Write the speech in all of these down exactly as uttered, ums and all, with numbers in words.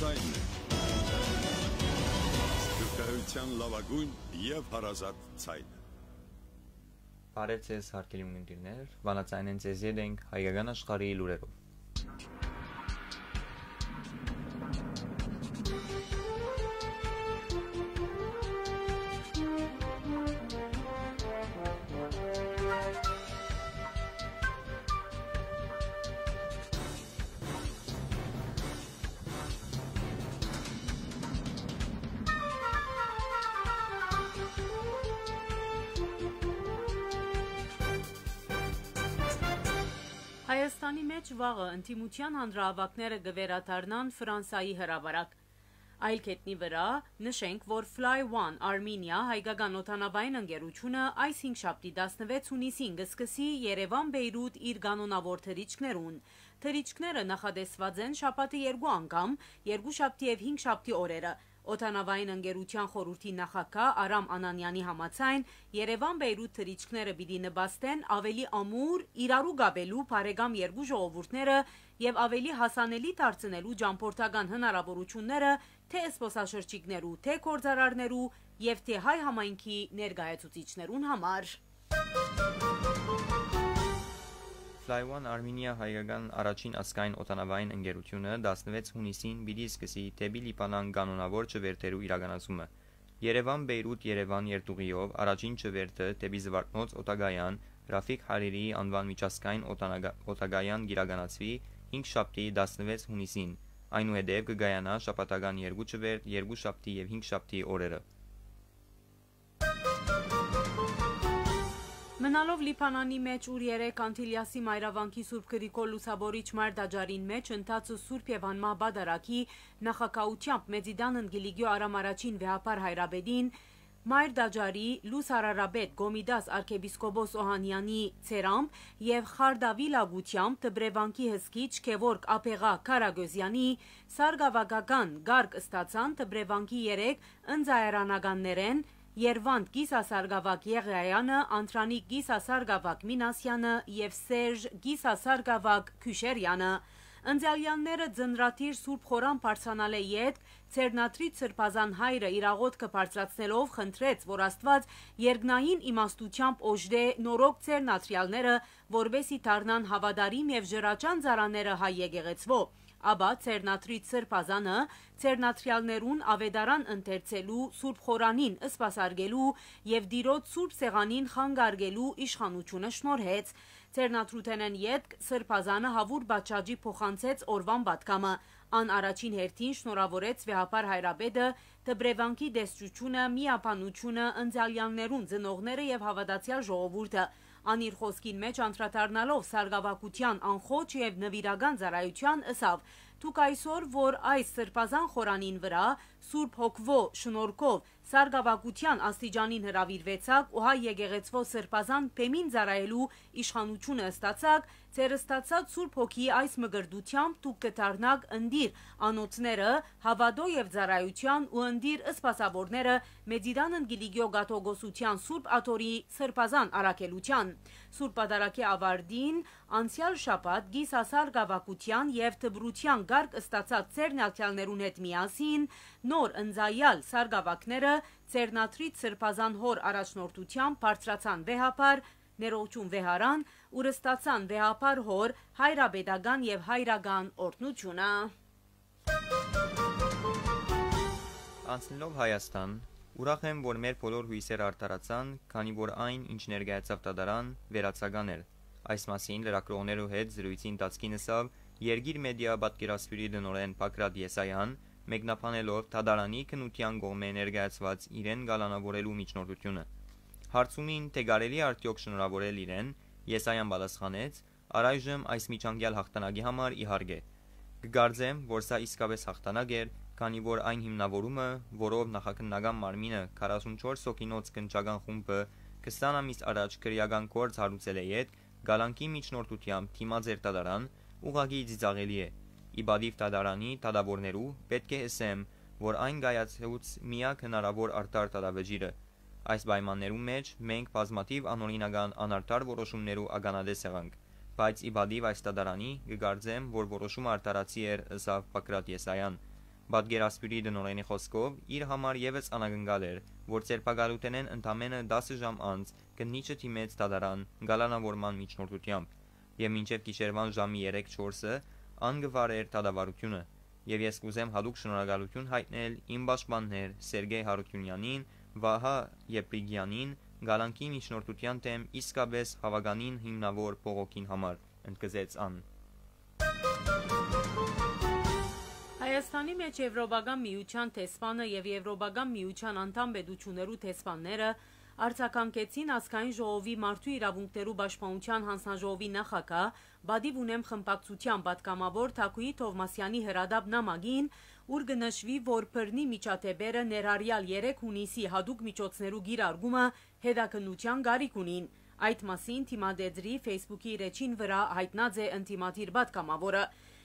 Այն է սփիւռքահայութեան լաւագոյն եւ հարազատ ցայնը։ Բարեւ ձեզ, հարգելի ունկնդիրներ, վանացայինէն ձեզ ետ ենք հայկական աշխարհի լուրերով։ Հայաստանի մէջ վաղը ընդդիմութեան հանրահաւաքները կը վերադառնան Ֆրանսայի հրապարակ։ Այլ գետնի վրայ նշենք, որ Fly One Armenia հայկական օդանաւային ընկերութիւնը այս հինգշաբթի տասնվեց յունիսին կը սկսի Երեւան-Բեյրութ իր կանոնաւոր թռիչքներուն։ Թռիչքները նախատեսուած են շաբաթը երկու անգամ, երկուշաբթի եւ հինգշաբթի օրերը։ Օդանաւային ընկերութեան խորհուրդի նախագահ Արամ Անանեանի համաձայն, Երեւան-Բեյրութ թռիչքները պիտի նպաստեն աւելի ամուր իրարու կապելու բարեկամ երկու ժողովուրդները եւ աւելի հասանելի դարձնելու ճամբորդական հնարաւորութիւնները թէ զբօսաշրջիկներու, թէ գործարարներու եւ թէ հայ համայնքի ներկայացուցիչներուն համար։ Fly One Armenia հայկական առաջին ազգային օդանաւային ընկերութիւնը տասնվեց յունիսին պիտի սկսի դէպի Լիբանան կանոնաւոր չվերթերու իրականացումը։ Երեւան-Բեյրութ-Երեւան երթուղիով առաջին չվերթը դէպի Զուարթնոց օդակայան Ռաֆիկ Հարիրիի անուան միջազգային օդանագա-, օդակայան կ'իրականացուի հինգշաբթի տասնվեց յունիսին, այնուհետեւ կը կայանայ շաբաթական երկու չվերթ երկուշաբթի եւ հինգշաբթի օրերը։ Մնալով Լիբանանի մէջ, ուր երեկ Անտիլիասի մայրավանքի Սուրբ Գրիգոր Լուսաւորիչ մայր տաճարին մէջ ընթացը Սուրբ եւ Անմահ Պատարագի նախագահութեամբ Մեծի տան ընկիլիկիո Արամ Արաչին վեհափառ հայրապետին, մայր տաճարի լուսարարապետ Կոմիտաս արքեպիսկոպոս Օհանեանի ցերամբ եւ խարդավիլակութեամբ Դպրեվանքի հսկիչ Գեորգ Աբեղա Քարագոզեանի սարկաւակական կարգ ստացան Դպրեվանքի երեք ընծայարանականներէն Երվանդ կիսասարկաւակ Եղիայանը, Անդրանիկ կիսասարկաւակ Մինասեանը եւ Սերժ կիսասարկաւակ Քյուշերեանը։ Ընծայալները ծննդրադիր Սուրբ Խորան բարձրանալէ ետք Ձեռնադրիչ Սրբազան հայրը իր աղօթքը բարձրացնելով խնդրեց, որ Աստուած երկնային իմաստութեամբ օժտէ նորոգ ձեռնադրեալները, որպէսզի դառնան հաւատարիմ եւ ժրաչան ծառաները հայ եկեղեցւոյ։ Ապա Ձեռնադրիչ Սրբազանը ձեռնադրեալներուն աւետարան ընթերցելու, Սուրբ Խորանին սպասարկելու եւ Տիրոջ Սուրբ Սեղանին խանգարկելու իշխանութիւնը շնորհեց։ Ձեռնադրութենէն ետք Սրբազանը հաւուր պատշաճի փոխանցեց օրուան պատգամը։ Ան առաջին հերթին շնորհաւորեց վեհափառ հայրապետը, Դպրեվանքի տեսչութիւնը, միաբանութիւնը, ընծայալներուն ծնողները եւ հաւատացեալ ժողովուրդը։ Ան իր խօսքին մէջ անդրադառնալով սարկաւակութեան անխոչ եւ նուիրական ծառայութեան ըսաւ. «Դուք այսօր, որ այս Սրբազան խորանին վրայ Սուրբ Հոգւոյ շնորհքով սարկաւակութեան աստիճանին հրաւիրուեցաք ու հայ եկեղեցւոյ Սրբազան բեմին ծառայելու իշխանութիւնը ստացաք, ձեր ստացած Սուրբ Հոգիի այս մկրտութեամբ դուք կը դառնաք ընտիր անոթները հաւատոյ եւ ծառայութեան ու ընտիր սպասաւորները Մեծի տան ընկիլիկիո կաթողիկոսութեան Սուրբ Աթոռի Սրբազան առաքելութեան։ Սուրբ Պատարագի աւարտին անցեալ շաբաթ կիսասարկաւակութեան եւ դպրութեան կարգ ստացած ձեռնարկեալներուն հետ միասին նոր ընծայալ սարկաւակները Ձեռնադրիչ Սրբազան հօր առաջնորդութեամբ բարձրացան վեհափառ, ներողություն, վեհարան, ուր ստացան վեհափառ հօր հայրապետական եւ հայրական օրհնութիւնը»։ Անցնելով Հայաստան, ուրախ եմ, որ մեր բոլոր յոյսերը արդարացան, քանի որ այն, ինչ ներկայացաւ դատարան, վերացական էր։ Այս մասին լրագրողներու հետ զրոյցի ընթացքին ըսաւ Երկիր մեդիա պատկերասփիւռի տնօրէն Բագրատ Եսայան, մեկնաբանելով դատարանի քննութեան կողմէ ներկայացուած իրեն կալանաւորելու միջնորդութիւնը։ Հարցումին, թէ կարելի՞ արդեօք շնորհաւորել իրեն, Եսայան պատասխանեց. «Առայժմ այս միջանկեալ յաղթանակի համար, իհարկե։ Կկարծեմ, որ սա իսկապէս յաղթանակ էր, քանի որ այն հիմնավորումը, որով նախաքննական մարմինը քառասունչորս հոգինոց կնճական խումբը քսան ամիս առաջ քրեական գործ հարուցելէ ետք, կալանքի միջնորդութեամբ դիմած էր դատարան, ուղղակի ծիծաղելի է։ Ի պատիւ դատարանի դատաւորներու, պէտք է ըսեմ, որ այն կայացուց միակ հնարաւոր արդար դատավճիռը։ Այս պայմաններուն մէջ մենք բազմաթիւ անօրինական, անարդար որոշումներու ականատես եղանք, բայց ի պատիւ այս դատարանի կը կարծեմ, որ որոշումը արդարացի էր», ըսաւ Բագրատ Եսայան։ Պատկերասփիւռի տնօրէնի խօսքով, իր համար եւս անակնկալ էր, որ ձերբակալութենէն ընդամէնը տասը ժամ անց քննիչը դիմեց դատարան կալանաւորման միջնորդութեամբ, եւ մինչեւ գիշերուան ժամի երեք չորսը ան կը վարէր դատավարութիւնը։ Եւ ես կ'ուզեմ յատուկ շնորհակալութիւն յայտնել իմ պաշտպաններ Սերգեյ Յարութիւնեանին, Վահա Եփրիկեանին, կալանքի միջնորդութեան դէմ իսկապէս հաւականին հիմնաւոր բողոքին համար, ընդգծեց ան։ Հայաստանի մէջ Եվրոպական Միութեան դեսպանը եւ Եվրոպական Միութեան անդամ պետութիւններու դեսպանները արձագանքեցին Ազգային ժողովի մարդու իրաւունքներու պաշտպանութեան յանձնաժողովի նախագահ, պատիւ ունեմ խմբակցութեան պատգամաւոր Թագուհի Թովմասեանի հրատապ նամակին, ուր կը նշուի, որ բռնի միջադէպերը ներառեալ երեք յունիսի յատուկ միջոցներու կիրարկումը հետաքննութեան կարիք ունին։ Այդ մասին Թիմադեդրի Facebook-ի իր էջին վրայ յայտնած է ընդդիմադիր պատգամաւորը։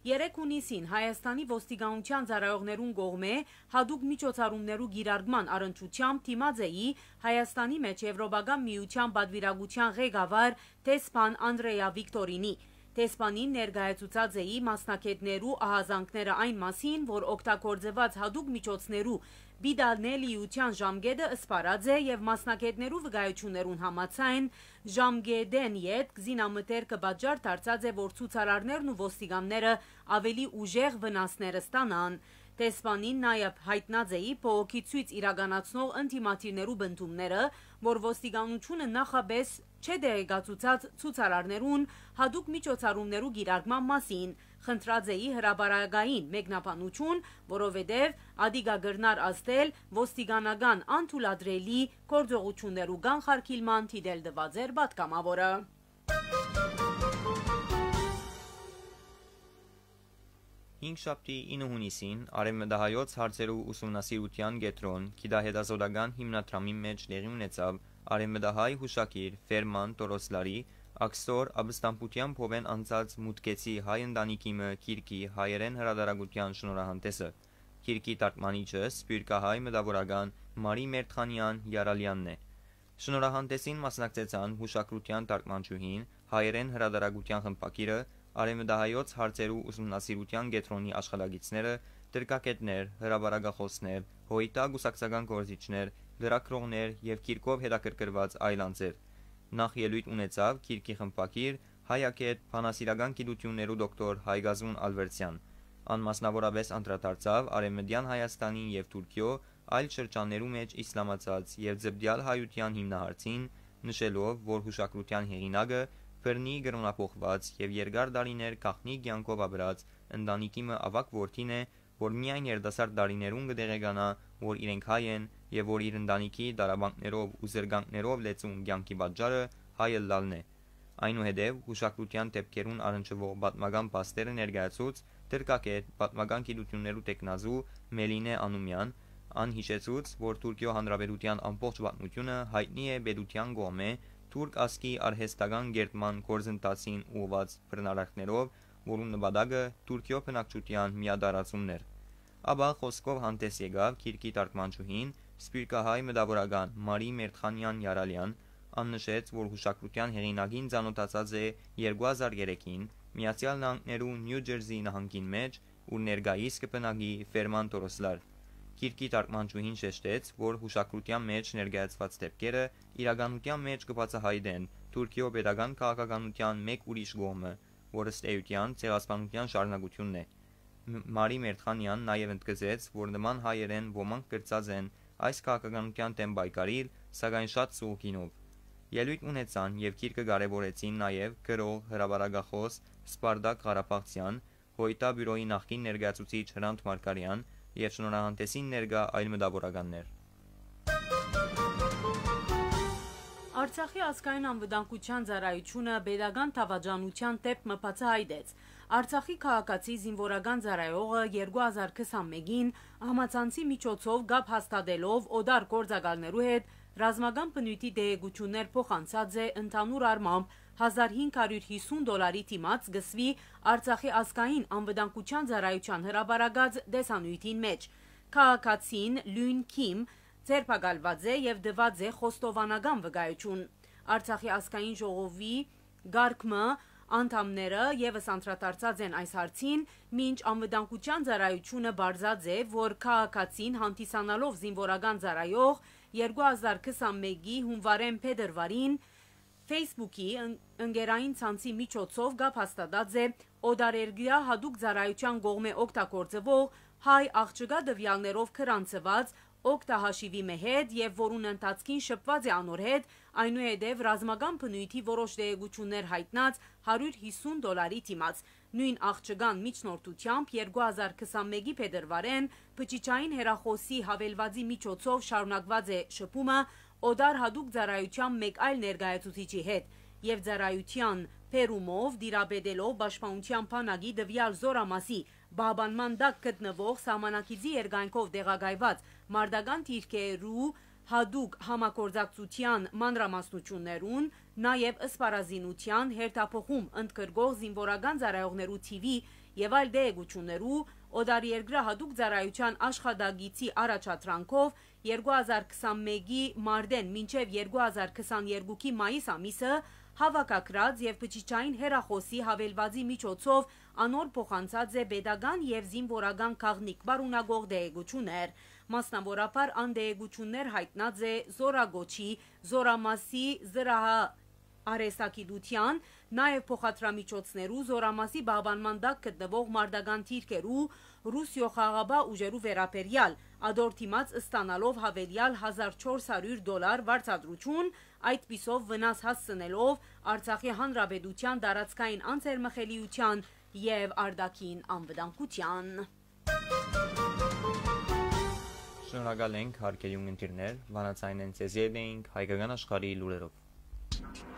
Երեք յունիսին Հայաստանի ոստիկանութեան ծառայողներուն կողմէ յատուկ միջոցառումներու կիրարկման առնչութեամբ դիմած էի Հայաստանի մէջ Եվրոպական Միութեան պատուիրակութեան ղեկավար դեսպան Անդրեա Վիկտորինի։ Դեսպանին ներկայացուցած էի մասնագէտներու ահազանգները այն մասին, որ օգտագործուած յատուկ միջոցներու պիտանելիութեան ժամկետը սպառած է եւ մասնագէտներու վկայութիւններուն համաձայն, ժամկէտէն ետք զինամթերքը պատճառ դարձած է, որ ցուցարարներն ու ոստիկանները աւելի ուժեղ վնասներ ստանան։ Դեսպանին նաեւ յայտնած էի բողոքի ցոյց իրականացնող ընդդիմադիրներու պնդումները, որ ոստիկանութիւնը նախապէս չէ տեղեկացուցած ցուցարարներուն յատուկ միջոցառումներու կիրարկման մասին, խնդրած էի հրապարակային մեկնաբանութիւն, որովհետեւ ատիկա կրնար ազդել ոստիկանական անթույլատրելի գործողութիւններու կանխարգիլման դիտել տուած էր պատգամաւորը։ Հինգշաբթի ինը յունիսին Արեւմտահայոց հարցերու ուսումնասիրութեան կեդրոն գիտահետազօտական հիմնադրամի մէջ տեղի ունեցաւ արեւմտահայ յուշագիր Ֆերման Տորոսլարի Աքսոր ապստամբութեան փովէն անցած Մուտքեցի հայ ընտանիքի մը գիրքի հայերէն հրատարակութեան շնորհահանդէսը։ Գիրքի թարգմանիչը սփիւռքահայ մտաւորական Մարի Մերթխանեան Յարալեանն է։ Շնորհահանդէսին մասնակցեցան յուշագրութեան թարգմանչուհին, հայերէն հրատարակութեան խմբագիրը, արեւմտահայոց հարցերու ուսումնասիրութեան կեդրոնի աշխատակիցները, դրկագէտներ, հրապարակախօսներ, յոյտա կուսակցական գործիչներ, լրագրողներ եւ գիրքով հետաքրքրուած այլ անձեր։ Նախ ելոյթ ունեցաւ գիրքի խմբագիր, հայագէտ, բանասիրական գիտութիւններու դոկտոր Հայկազուն Ալվերցեան։ Ան մասնաւորապէս անդրադարձաւ Արեւմտեան Հայաստանի եւ Թուրքիոյ այլ շրջաններու մէջ իսլամացած եւ ձպտեալ հայութեան հիմնահարցին, նշելով, որ յուշագրութեան հեղինակը բռնի կրօնափոխուած եւ երկար տարիներ գաղտնի կեանքով ապրած ընտանիքի մը աւագ որդին է, որ միայն երիտասարդ տարիներուն կը տեղեկանայ, որ իրենք հայ են եւ որ իր ընտանիքի տառապանքներով ու զրկանքներով լեցուն կեանքի պատճառը հայ ըլլալն է։ Այնուհետեւ յուշագրութեան դէպքերուն առնչուող պատմական փաստերը ներկայացուց դրկագէտ, պատմական գիտութիւններու տեխնազու Մելինէ Անումեան, ան յիշեցուց, որ Թուրքիոյ Հանրապետութեան ամբողջ պատմութիւնը յայտնի է պետութեան կողմէ թուրք ազգի արհեստական կերտման գործընթացին ուղղուած բռնարարքներով, որուն նպատակը Թուրքիոյ բնակչութեան միատարածումն էր։ Ապա խօսքով հանդէս եկաւ գիրքի թարգմանչուհին, սփիւռքահայ մտաւորական Մարի Մերթխանեան Յարալեան, ան նշեց, որ յուշագրութեան հեղինակին ծանօթացած է երկու հազար երեքին Միացեալ Նահանգներու Նիու Ջերզի նահանգին մէջ, ուր ներկայիս կը բնակի Ֆերման Տորոսլար։ Գիրքի թարգմանչուհին շեշտեց, որ յուշագրութեան մէջ ներկայացուած դէպքերը իրականութեան մէջ կը բացահայտեն Թուրքիոյ պետական քաղաքականութեան մէկ ուրիշ կողմը, որ ըստ էութեան ցեղասպանութեան շարունակութիւնն է։ Մ-, Մարի Մերթխանեան նաեւ ընդգծեց, որ նման հայերէն ոմանք կրցած են այս քաղաքականութեան դէմ պայքարիլ, սակայն շատ սուղ գինով։ Ելոյթ ունեցան եւ գիրքը կարեւորեցին նաեւ գրող, հրապարակախօս Սպարտակ Ղարաբաղցեան, Հոյտա բիւրոյի նախկին ներկայացուցիչ Հրանդ Մարգարեան եւ շնորհահանդէսին ներկայ այլ մտաւորականներ։ Արցախի ազգային անվտանգության ծառայութիւնը պետական դաւաճանութեան դէպք մը բացահայտեց։ Արցախի քաղաքացի զինուորական ծառայողը երկու հազար քսանմէկին համացանցի միջոցով կապ հաստատելով օտար գործակալներու հետ ռազմական բնոյթի տեղեկութիւններ փոխանցած է ընդհանուր առմամբ հազար հինգ հարիւր հիսուն դոլարի դիմաց, կը սուի Արցախի ազգային անվտանգության ծառայութեան հրապարակած տեսանիւթին մէջ։ Քաղաքացին Լյուն Քիմ ձերբակալուած է եւ տուած է խոստովանական վկայութիւն։ Արցախի ազգային ժողովի կարգ մը անդամները եւս անդրադարձած են այս հարցին, մինչ անվտանգության ծառայութիւնը պարզած է, որ քաղաքացին հանդիսանալով զինուորական ծառայող երկու հազար քսանմէկի հունուարէն փետրուարին Facebook-ի ն-, ընկերային ցանցի միջոցով կապ հաստատած է օտարերկրյա յատուկ ծառայութեան կողմէ օգտագործուող հայ աղջկա տուեալներով գրանցուած օգտահաշիւի մը հետ եւ որուն ընթացքին շփուած է անոր հետ, այնուհետեւ ռազմական բնոյթի որոշ տեղեկութիւններ յայտնած հարիւր յիսուն դոլարի դիմաց։ Նոյն աղջկան միջնորդութեամբ երկու հազար քսանմէկի փետրուարէն բջջային հեռախօսի յաւելուածի միջոցով շարունակուած է շփումը օտար յատուկ ծառայութեան մէկ այլ ներկայացուցիչի հետ եւ ծառայութեան բերումով տիրապետելով պաշտպանութեան բանակի տուեալ զօրամասի պահպանման տակ գտնուող սահմանակիցի երկայնքով տեղակայուած մարտական դիրքերու յատուկ համագործակցութեան մանրամասնութիւններուն, նաեւ սպառազինութեան հերթափոխում ընդգրկող զինուորական ծառայողներու թիւի եւ այլ տեղեկութիւններու, օտարերկրայ յատուկ ծառայութեան աշխատակիցի առաջադրանքով երկու հազար քսանմէկի մարտէն մինչեւ երկու հազար քսաներկուքի մայիս ամիսը, հաւաքագրած եւ բջջային հեռախօսի յաւելուածի միջոցով անոր փոխանցած է պետական եւ զինուորական գաղտնիք պարունակող տեղեկութիւններ։ Մասնաւորաբար ան տեղեկութիւններ յայտնած է զօրակոչի, զօրամասի, զրահ արհեստագիտութեան, նաեւ փոխադրամիջոցներու, զօրամասի պահպանման տակ գտնուող մարտական դիրքերու, Ռուսիոյ խաղաղապահ ուժերու վերաբերեալ, ատոր դիմաց ստանալով յաւելեալ հազար չորս հարիւր դոլար վարձատրութիւն, այդպիսով վնաս հասցնելով Արցախի հանրապետութեան տարածքային անձերմխելիութեան եւ արտաքին անվտանգութեան։ Շնորհակալ ենք, հարգելի ունգընտիրներ, վանաձայնէն ձեզի հետ էինք հայկական աշխարհի լուրերով։